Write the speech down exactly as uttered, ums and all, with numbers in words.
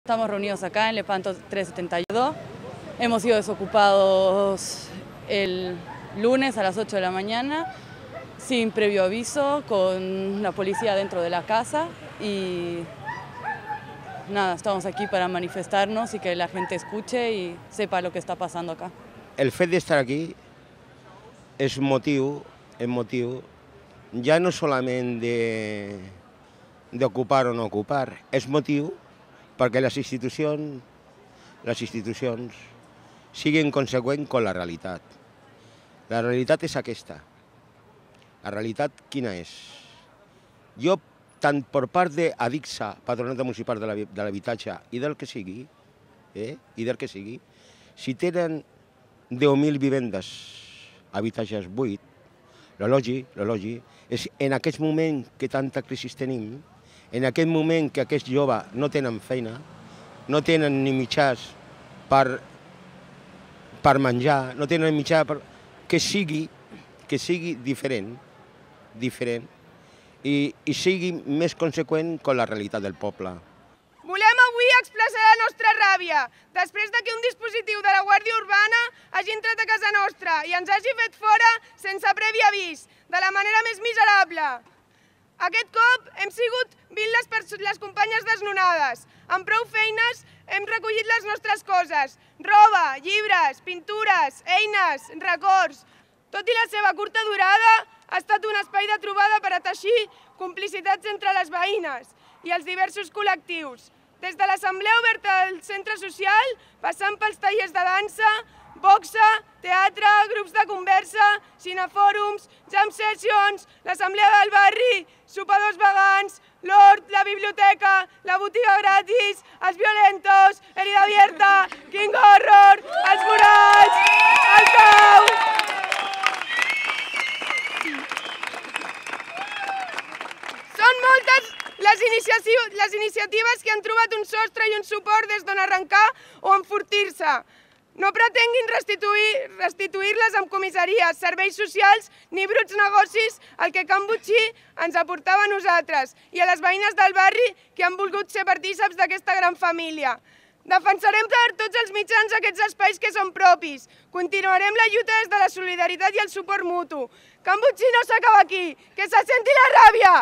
Estamos reunidos acá en Lepanto trescientos setenta y dos. Hemos sido desocupados el lunes a las ocho de la mañana, sin previo aviso, con la policía dentro de la casa y nada, estamos aquí para manifestarnos y que la gente escuche y sepa lo que está pasando acá. El fet d'estar aquí és motiu, és motiu ja no solament d'ocupar o no ocupar, és motiu perquè les institucions, les institucions siguin conseqüents amb la realitat. La realitat és aquesta. La realitat quina és? Jo, tant per part d'Adixa, Patronat Municipal de l'Habitatge, i del que sigui, eh, i del que sigui, si tenen deu mil vivendes, habitatges buits, l'elogi, l'elogi, és en aquest moment que tanta crisi tenim, en aquest moment que aquests joves no tenen feina, no tenen ni mitjans per, per menjar, no tenen mitjà per... que sigui, que sigui diferent, diferent, i, i sigui més conseqüent amb la realitat del poble. Volem avui expressar la nostra ràbia, després que un dispositiu de la Guàrdia Urbana hagi entrat a casa nostra i ens hagi fet fora sense previ avís, de la manera més miserable. Aquest cop hem sigut vint les, les companyes desnonades. Amb prou feines hem recollit les nostres coses, roba, llibres, pintures, eines, records. Tot i la seva curta durada, ha estat un espai de trobada per a teixir complicitats entre les veïnes i els diversos col·lectius. Des de l'assemblea oberta del centre social, passant pels tallers de dansa, boxa, teatre, grups de conversa, cinefòrums, jam sessions, l'assemblea del barri, sopadors vegans, l'hort, la biblioteca, la botiga gratis, els violentos, herida abierta, King Horror, els murals, el cau... Són moltes les iniciatives que han trobat un sostre i un suport des d'on arrencar o enfortir-se. No pretenguin restituir-les amb comissaries, serveis socials ni bruts negocis al que Can Botxí ens aportava a nosaltres i a les veïnes del barri que han volgut ser partícips d'aquesta gran família. Defensarem per tots els mitjans aquests espais que són propis. Continuarem la lluita des de la solidaritat i el suport mutu. Can Botxí no s'acaba aquí, que se senti la ràbia!